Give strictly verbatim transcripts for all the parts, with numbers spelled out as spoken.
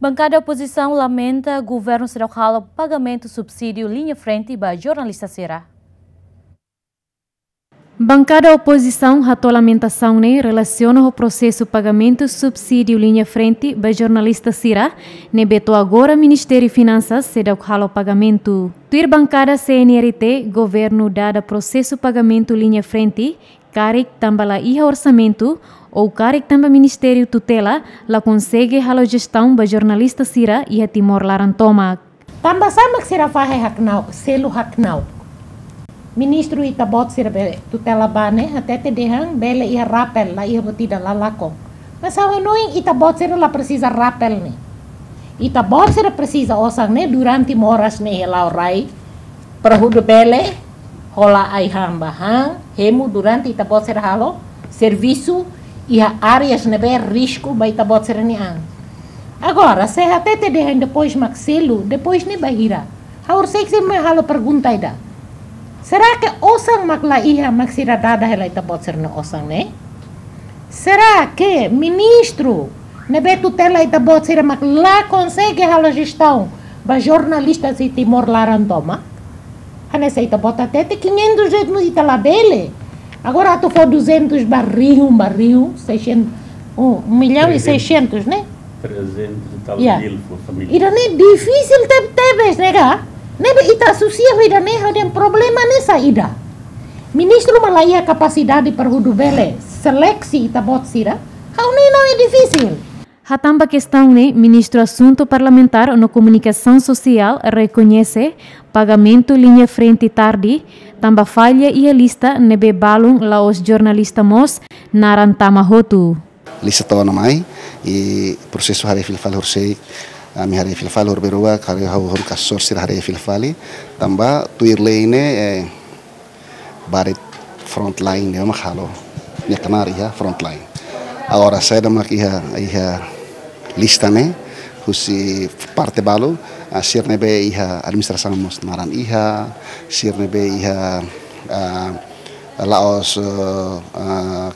Bankada opozisaun lamenta governu seidauk halo pagamentu subsídiu liña frente ba jornalista sira. Bankada opozisaun hato'o lamentasaun ne'e relasiona ho prosesu pagamentu subsídiu liña frente ba jornalista sira, ne'ebé to'o agora Ministériu Finansas seidauk halo pagamentu. Tuir bankada C N R T, governu dada prosesu pagamentu liña frente, karik tanba la iha orsamentu, ou karik tanba ministériu tutela la konsege halo jestaun ba jornalista sira iha Timor laran tomak. Tanba sá mak sira fahe haknauk, selu haknauk? Ministru ita-boot sira be tutela ba ne'e hatete dehan bele iha rapel, la iha buat ida, la lakon. Mas ha'u hanoin ita-boot sira la presiza rapel ne'e. Ita-boot sira presiza osan ne'e durante moras ne'e iha la'o rai, para hodi bele hola ai-han ba han, hemu durante ita-boot sira halo servisu iha áreas ne'ebé risku ba ita-boot sira-nia an. Agora, se hatete dehan depois mak selu, depois ne'e bainhira? Ha'u hakarak sei mai halo pergunta ida. Será que osan mak la iha mak sira dada hela ita-boot sira-nia osan ne'e? Será que ministru ne'ebé tutela ita-boot sira mak la konsege halo jestaun ba jornalista iha Timor laran tomak? Hanesan ita-boot hatete, quinhentos reais ita labele. Agora atu fó duzentos ba rihun, ba rihun, seiscentos, um, um milhão e seiscentos, né? Trezentos e tal mil por família. Ida-ne'e difisil teb-tebes, ne'e ka? Ne'ebé ita asosia ho ida-ne'e, ha'u dehan problema ne'e saida? Ministru mak la iha kapasidade para hodi bele seleksi ita-boot sira? Ha'u hanoin ne'e difisil. Hatán ba kestaun ne'e, Ministru Asuntu Parlamentár no Komunikasaun Sosiál rekoñese pagamentu liña frente tarde, tanba falla iha lista ne'ebé balun la'ós jornalista mós naran tama hotu. Lista to'o ona mai, i prosesu haree fila fali horisehik, ami haree fila fali, horibainrua, haree hau hau kasor sira haree fila fali, tanba tuir lei ne'e, eh, barak frontline ne'e mak halo, nia knaar iha frontline. Agora saida mak iha, iha lista ne'e, husi parte balu, ah, sira ne'ebé iha administrasaun mós naran iha, sira ne'ebé iha, ah, la'ós, eh, ah,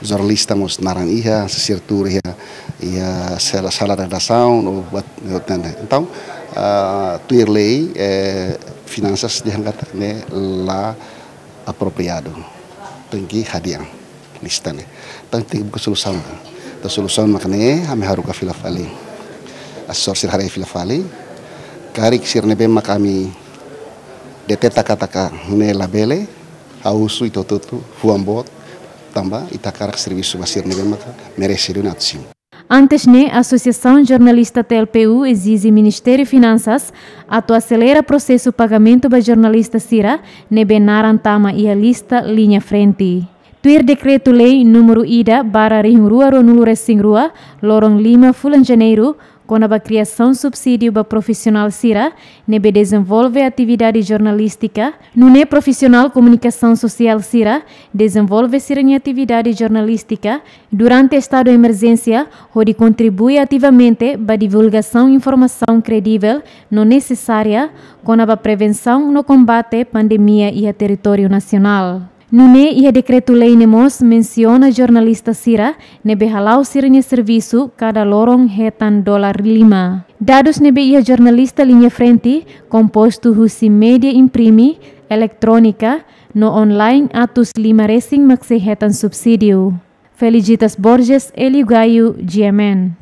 jornalista mós naran iha, sira tuur iha, iha sala, sala redasaun, ou buat, buat ne'e. Entaun, ah, tuir lei, eh, finansas dehan katak ne'e la apropriadu. Tenke hadi'a lista ne'e. Entaun tenke buka solusaun. Entaun solusaun mak ne'e, ami haruka fila fali. Asesór sira haree fila fali. Karik sira ne'ebé mak ami deteta katak ne'e labele, ha'u husu ita hotu-hotu fuan boot, tanba ita hakarak servisu ba sira ne'ebé maka merese duni atu simu. Antes ne'e, Asosiasaun Jornalista T L P U ezije Ministériu Finansas atu aselera prosesu pagamentu ba jornalista sira ne'ebé naran tama iha lista liña frente. Tuir Dekretu-Lei númeru ida barra rihun rua ruanulu resin rua, loron lima fulan Janeiru, kona-ba kriasaun subsídiu ba profisionál sira ne'ebé dezenvolve atividade jornalístika, nune'e profisionál komunikasaun sosiál sira dezenvolve sira-nia atividade jornalístika durante estadu emerjénsia, hodi kontribui ativamente ba divulgasaun informasaun kredivel no nesesária kona-ba prevensaun no kombate pandemia iha territóriu nasionál. Nune'e iha dekretu-lei ne'e mós mensiona jornalista sira ne'ebé hala'o sira-nia servisu kada loron hetan dolar lima. Dadus ne'ebé iha jornalista liña frente, kompostu husi média imprime, eletrónika, no online atus lima resin mak sei hetan subsídiu. Felicitas Borges, Elio Gaio, G M N.